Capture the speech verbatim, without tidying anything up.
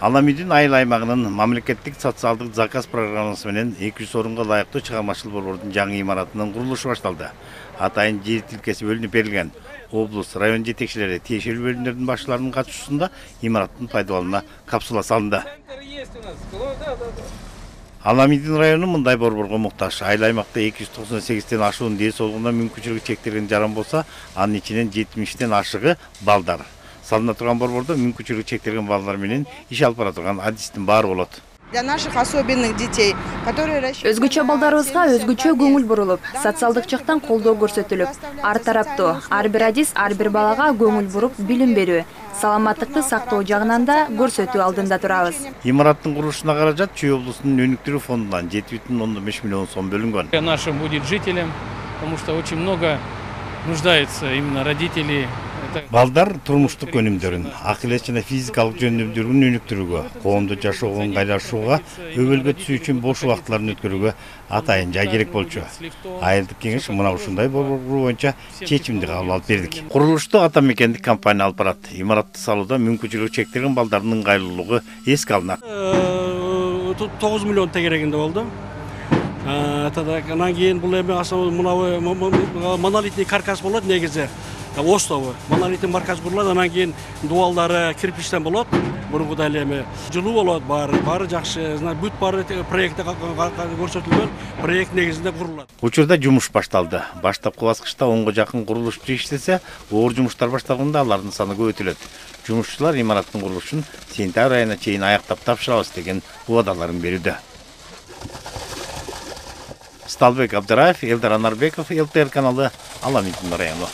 Аламидин айыл аймагынын мамлекеттик социалдык заказ программасы менен эки жүз орунга ылайыктуу чыгармачыл борбордун жаңы имаратынын курулушу башталды. Атайын жер тилкеси бөлүнүп берилген. Облус, район жетекчилери, тиешелүү бөлүмдөрдүн башчыларынын катышуусунда имараттын пайдаланууна капсула салынды. Аламидин району мындай борборго муктаж. Айыл аймакта эки жүз токсон сегизден ашуун ден соолугуна мүмкүнчүлүгү чектелген жаран болсо, анын ичинен жетимиштен ашыгы балдар. Салына турган борбордо мүмкүнчүлүгү чектелген балдар менен иш алып бара турган адистин баары болот. Для наших особенных детей, которые Өзгөчө балдарыбызга өзгөчө көңүл бурулуп, социалдык жактан колдоо көрсөтүлүп, ар тараптуу, ар бир адис ар бир балага көңүл буруп, билим берүү, саламаттыкты сактоо жагынан да көрсөтүү алдында турабыз. Имараттын курулушуна каражат Чүй облусунун өнүктүрүү фондунан жети бүтүн ондон беш миллион сом бөлүнгөн. Нашим будет жителям, потому что очень много нуждается именно родителей. Балдар турмуштук өнүмдөрүн, акылет жана физикалык жөндөмдөрүн өнүктүрүүгө, коомдо жашоого ыңгайлашууга, өбөлгө түсүү үчүн бош убактыларын өткөрүүгө атайын жай керек болчу. Айылдык кеңеш мына ушундай борбор куруу боюнча чечимди кабыл алып бердик. Курулушту ата мекендик компания алып барат. Имаратты салууда мүмкүнчүлүгү чектелген балдардын ыңгайлуулугу эске алынат. тогуз миллион тегерегинде болду. Анан кийин бул эми мынабы монолитный каркас болот негизи. Остову. Монолитный марказ курулат, анан кийин дубалдары кирпичтен болот. Мурункудай эле эми жылуу болот, баары, баары жакшы. Бүт баары проектте көрсөтүлгөн, проект негизинде курулат. Учурда жумуш башталды. Баштапкы баскычта онго жакын курулушчу иштесе, оор жумуштар башталганда алардын саны көбөйтүлөт. Жумушчулар имараттын курулушун сентябрь айына чейин аяктап тапшырабыз деген убадаларын берүүдө. Сталбек Абдыраев, Элдар Анарбеков, эл тэ эр каналы, Аламидин району.